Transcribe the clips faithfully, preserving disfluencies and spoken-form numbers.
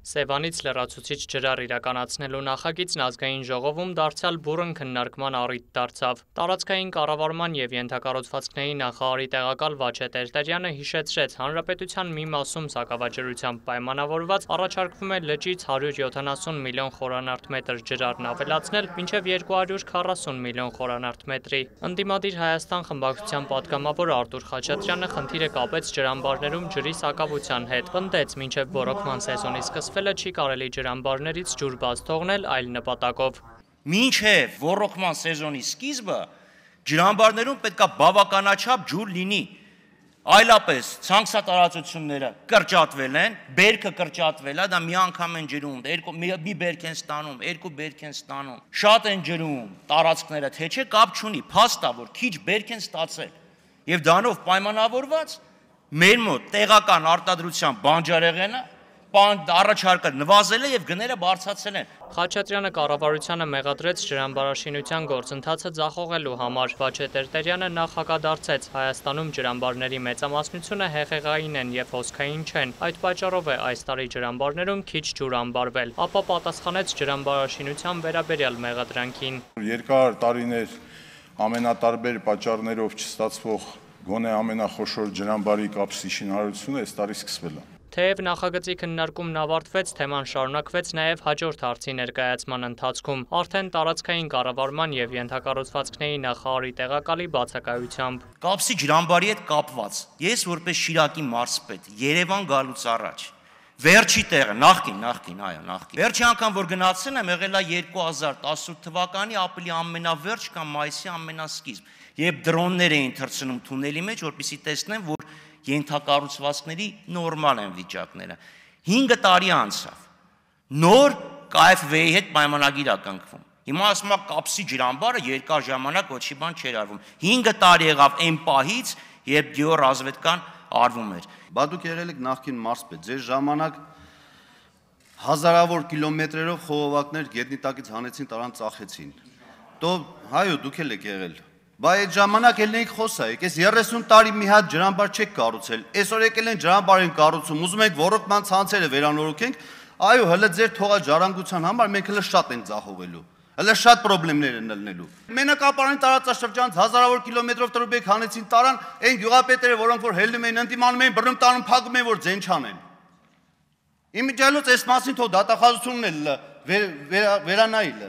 Սևանից լրացուցիչ ջրառ իրականացնելու նախագիծն ազգային ժողովում դարձյալ բուռն քննարկման առիթ դարձավ։ Տարածքային կառավարման և ենթակառուցվածքների նախարարի տեղակալ Վաչե Տերտերյանը հիշեցրեց, հանրապետության մի մասում սակավաջրությամբ պայմանավորված առաջարկվում է լճից հարյուր յոթանասուն միլիոն խորանարդ մետր ջրառն ավելացնել մինչև երկու հարյուր քառասուն միլիոն խորանարդ մետրի։ Ընդդիմադիր Հայաստան խմբակցության պատգամավոր Արտուր Խաչատրյանը խնդիրը կապեց ջրամբարներում ջրի սակավության հետ, պնդեց մինչև ոռոգման սեզոնի սկսվելը չի կարելի ջրամբարներից ջուր բաց թողնել այլ նպատակով։ Մինչև ոռոգման սեզոնի սկիզբը ջրամբարներում պետք է բավականաչափ ջուր լինի։ Այլապես ցանքսատարածությունները կրճատվել են, բերքը կրճատվել է, դա մի անգամ են ջրում, մի բերք են ստանում, երկու բերք են ստանում, շատ են ջրում տարածքները, թե չէ կապ չունի, փաստ է, որ քիչ բերք են ստացել։ Եվ դրանով պայմանավորված մեր մոտ տեղական արտադրության բանջարեղենը առաջարկը նվազել է և գները բարձրացել են։ Խաչատրյանը կառավարությանը մեղադրեց ջրամբարաշինության գործընթացը ձախողելու համար։ Վաչե Տերտերյանը նախ հակադարձեց, Հայաստանում ջրամբարների մեծամասնությունը հեղեղային են և հոսքային չեն, այդ պատճառով է այս տարի ջրամբարներում քիչ ջուր ամբարվել, ապա պատասխանեց ջրամբարաշինության վերաբերյալ մեղադրանքին։ Երկար տարիներ ամենատարբեր պատճառներով չստացվող գոնե ամենախոշոր ջրամբարի կապսի շինարարությունը այս տարի սկսվել է։ Թեև նախագծի քննարկումն ավարտվեց, թեման շարունակվեց նաև հաջորդ հարցի ներկայացման ընթացքում, արդեն տարածքային կառավարման և ենթակառուցվածքների նախարարի տեղակալի բացակայությամբ։ Կապսի ջրամբարի հետ կապված, ես որպես Շիրակի մարզպետ Երևան գալուց առաջ, վերջի տեղը, նախկին, նախկին, այո, նախկին։ Վերջի անգամ, որ գնացել եմ, եղել է երկու հազար տասնութ թվականի ապրիլի ամենավերջ կամ մայիսի ամենասկիզբ, երբ դրոններ էին թռցնում թունելի մեջ, որպեսզի տեսնեն, որ ենթակառուցվածքների նորմալ են վիճակները։ հինգ տարի անցավ։ Նոր Կ Ֆ V-ի հետ պայմանագիր է կնքվում։ Հիմա ասում է կապսի ջրամբարը երկար ժամանակ ոչի բան չէր արվում։ հինգ տարի եղավ այն պահից, երբ գյուղառազվետկան արվում էր։ Բա դուք եղել եք նախկին մարզպետ, ձեր ժամանակ հազարավոր կիլոմետրերով խողովակներ գետնի տակից հանեցին, տարան ծախեցին։ Դո հայո դուք էլ եք եղել։ Բա այդ ժամանակ էլ էիք խոսայիք, այս երեսուն տարի մի հատ ջրամբար չեք կառուցել, այսօր եկել են ջրամբար են կառուցում, ուզում եք ոռոգման ցանցերը վերանորոգենք, այո, հələ ձեր թողած ժառանգության համար մենք հələ շատ ենք ձախողելու, հələ շատ խնդիրներ են ելնելու։ Մենակապարանի տարածաշրջանից հազարավոր կիլոմետրով տրուբեք հանեցին տարան, այն գյուղապետերը, որոնք որ հելնում էին, ընդդիմանում էին, բռնում տանում, փակում էին, որ ձեն չանեն։ Իմիջիայլոց այս մասին թող դատախազությունն էլ վերանայել։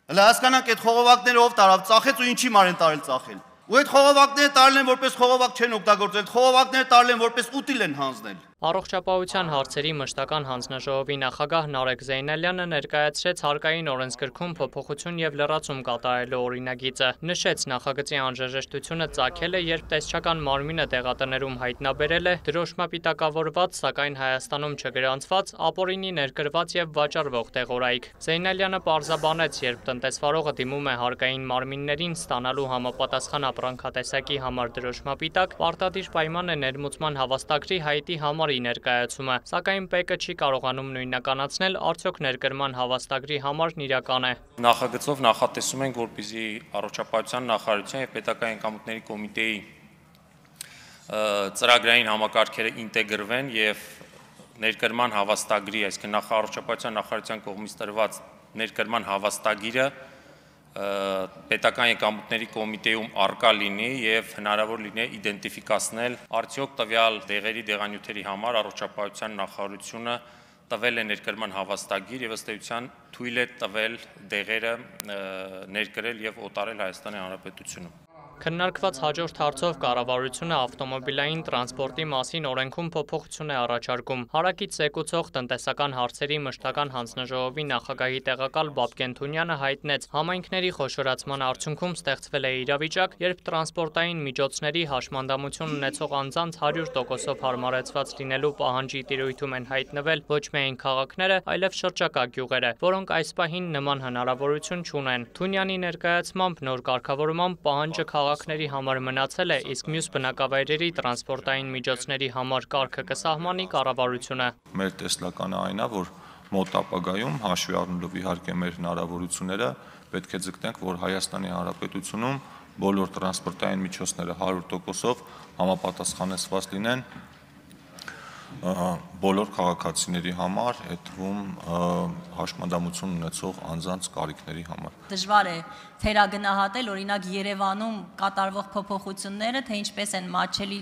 Հələ հասկանանք այդ խողովակները ով տարավ, ծախեց ու ինչի մարեն տարել ծախել։ Ու այդ խողովակները տարել են որպես խողովակ չեն օգտագործել, խողովակները տարել են որպես ուտիլ են հանձնել։ Առողջապահության հարցերի մշտական հանձնաժողովի նախագահ Նարեկ Զեյնալյանը ներկայացրեց հարկային օրենսգրքում փոփոխություն և լրացում կատարելու օրինագիծը։ Նշեց նախագծի անհրաժեշտությունը ծագել է, երբ տեսչական մարմինը դեղատներում հայտնաբերել է դրոշմապիտակավորված, սակայն Հայաստանում չգրանցված, ապօրինի ներկրված և վաճառվող տեղորայք։ Զեյնալյանը պարզաբանեց, երբ տնտեսվարողը դիմում է հարկային մարմիններին ստանալու համապատասխան ապրանքատեսակի համար դրոշմապիտակ, պարտադիր պայման է ներմուծման հավաստագրի հայտի համար ներկայացումը, սակայն ՊԵԿ-ը չի կարողանում նույնականացնել արդյոք ներկրման հավաստագրի համարն իրական է։ Նախագծով նախատեսում ենք, որպեսզի առողջապահության նախարարության և պետական եկամուտների կոմիտեի ծրագրային համակարգերը ինտեգրվեն և ներկրման հավաստագրի, այսինքն առողջապահության նախարարության կողմից տրված ներկրման հավաստագիրը պետական եկամուտների կոմիտեում առկա լինի և հնարավոր լինի իդենտիֆիկացնել արդյոք տվյալ դեղերի դեղանյութերի համար առողջապահության նախարարությունը տվել է ներկրման հավաստագիր և ըստ էության թույլ է տվել դեղերը ներկրել և օտարել Հայաստանի Հանրապետությունում։ Քննարկված հաջորդ հարցով կառավարությունը ավտոմոբիլային տրանսպորտի մասին օրենքում փոփոխություն է առաջարկում։ Հարակից զեկուցող տնտեսական հարցերի մշտական հանձնաժողովի նախագահի տեղակալ Բաբկեն Թունյանը հայտնեց, համայնքների խոշորացման արդյունքում ստեղծվել է իրավիճակ, երբ տրանսպորտային միջոցների հաշմանդամություն ունեցող անձանց հարյուր տոկոսով հարմարեցված լինելու պահանջի տիրույթում են հայտնվել ոչ միայն քաղաքները, այլև շրջակա գյուղերը, որոնք այս պահին նման հնարավորություն չունեն։ Թունյանի ներկայացմամբ նոր կարգավորմամբ պահանջը քաղաքների համար մնացել է, իսկ մյուս բնակավայրերի տրանսպորտային միջոցների համար կարգը կսահմանի կառավարությունը։ Մեր տեսլականը այն է, որ մոտ ապագայում հաշվի առնելով իհարկե մեր հնարավորությունները, պետք է ձգտենք, որ Հայաստանի Հանրապետությունում բոլոր տրանսպորտային միջոցները հարյուր տոկոսով համապատասխանեցված լինեն բոլոր քաղաքացիների համար, այդ թվում հաշմանդամություն ունեցող անձանց կարիքների համար։ Դժվար է թերագնահատել օրինակ Երևանում կատարվող փոփոխությունները, թե ինչպես են մատչելի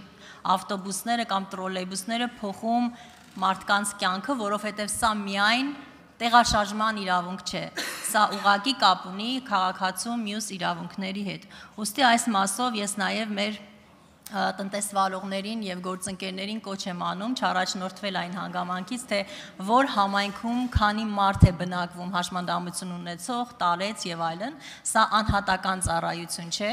ավտոբուսները կամ տրոլեյբուսները փոխում մարդկանց կյանքը, որովհետև սա միայն տեղաշարժման իրավունք չէ։ Սա ուղղակի կապ ունի քաղաքացու մյուս իրավունքների հետ։ Ուստի այս մասով ես նաև մեր տնտեսվալողներին եւ գործընկերներին կոչ եմ անում չառաջնորդվել այն հանգամանքից, թե որ համայնքում քանի մարդ է բնակվում հաշմանդամություն ունեցող, տարեց եւ այլն, սա անհատական ծառայություն չէ,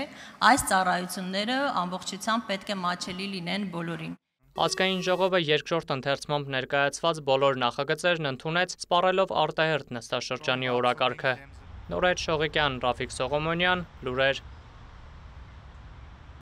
այս ծառայությունները ամբողջությամբ պետք է մատչելի լինեն բոլորին։ Ազգային ժողովը երկրորդ ընթերցմամբ ներկայացված բոլոր նախագծերն ընդունեց, սպառելով արտահերթ նստաշրջանի օրակարգը։ Նորայր Շողիկյան, Ռաֆիկ Սողոմոնյան, լուրեր